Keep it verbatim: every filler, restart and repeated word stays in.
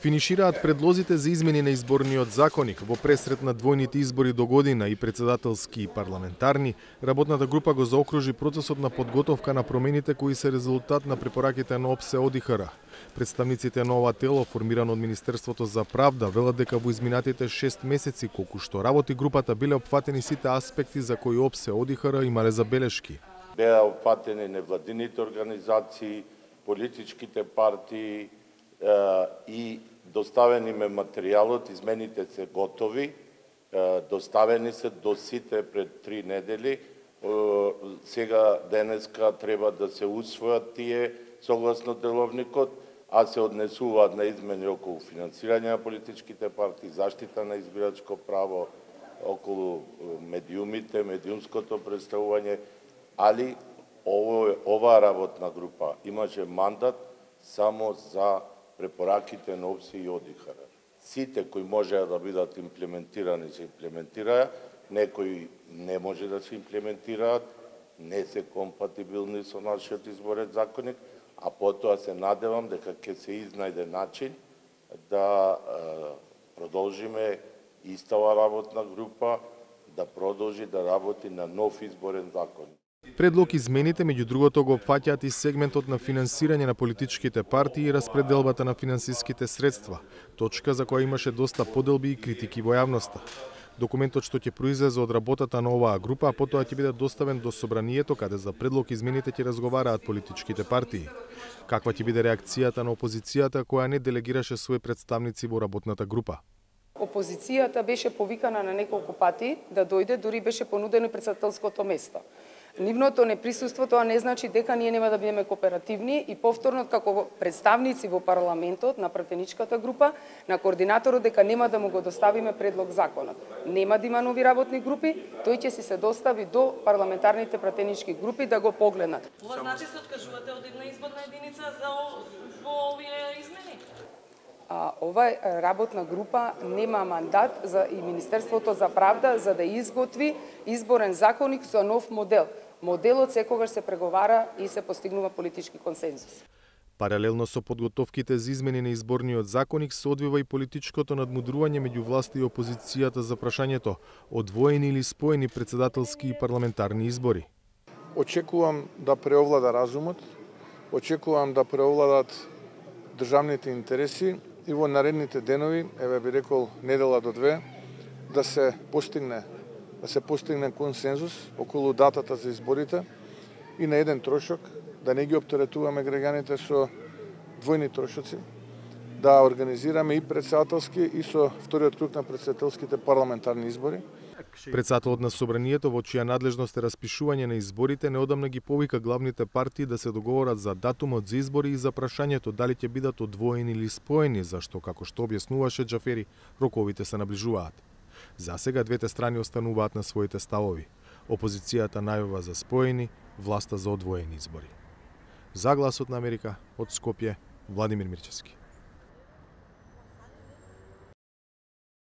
Финишираат предлозите за измени на изборниот законник во пресрет на двојните избори до година и председателски и парламентарни. Работната група го заокружи процесот на подготовка на промените кои се резултат на препораките на ОПСЕ ОДИХР. Представниците на ова тело, формирано од Министерството за правда, велат дека во изминатите шест месеци колку што работи групата биле опфатени сите аспекти за кои ОПСЕ ОДИХР имале забелешки. Беа опфатени невладините организации, политичките партии и доставени ме материјалот, измените се готови, доставени се до сите пред три недели. Сега денеска треба да се усвојат тие согласно деловникот, а се однесуваат на измени околу финансирање на политичките партии, заштита на избирачко право, околу медиумите, медиумското представување, али оваа работна група имаше мандат само за препораките на ОПСЕ и ОДИХР. Сите кои можеа да бидат имплементирани се имплементираа, некои не може да се имплементираат, не се компатибилни со нашиот изборен законник, а потоа се надевам дека ќе се изнајде начин да продолжиме истава работна група, да продолжи да работи на нов изборен законник. Предлог измените меѓу другото го опфаќаат и сегментот на финансирање на политичките партии и распределбата на финансиските средства, точка за која имаше доста поделби и критики во јавноста. Документот што ќе произлезе од работата на оваа група, а потоа ќе биде доставен до собранието каде за предлог измените ќе разговараат политичките партии. Каква ќе биде реакцијата на опозицијата која не делегираше своји представници во работната група? Опозицијата беше повикана на неколку пати да дојде, дури беше понудено председателското место. Нивното неприсуство тоа не значи дека ние нема да бидеме кооперативни и повторно како представници во парламентот на пратеничката група, на координаторот дека нема да му го доставиме предлог законот. Нема да има нови работни групи, тој ќе си се достави до парламентарните пратенички групи да го погледнат. Ова значи се откажувате од една изборна единица за во овие измени? А, ова работна група нема мандат за и Министерството за правда за да изготви изборен законник со нов модел. Моделот секогаш се преговара и се постигнува политички консензус. Паралелно со подготовките за измени на изборниот законник се одвива и политичкото надмудрување меѓу власта и опозицијата за прашањето одвоени или споени председателски и парламентарни избори. Очекувам да преовлада разумот, очекувам да преовладат државните интереси и во наредните денови, еве би рекол недела до две, да се постигне да се постигне консензус околу датата за изборите и на еден трошок, да не ги оптеретуваме граѓаните со двојни трошоци, да организираме и председателски и со вториот круг на председателските парламентарни избори. Председателот на собранието, во чија надлежност е распишување на изборите, неодамна ги повика главните партии да се договорат за датумот за избори и за прашањето дали ќе бидат одвоени или споени, зашто, како што објаснуваше Џафери, роковите се наближуваат. За сега двете страни остануваат на своите ставови. Опозицијата најавува за споени, власта за одвоени избори. За Гласот на Америка, од Скопје, Владимир Мирчевски.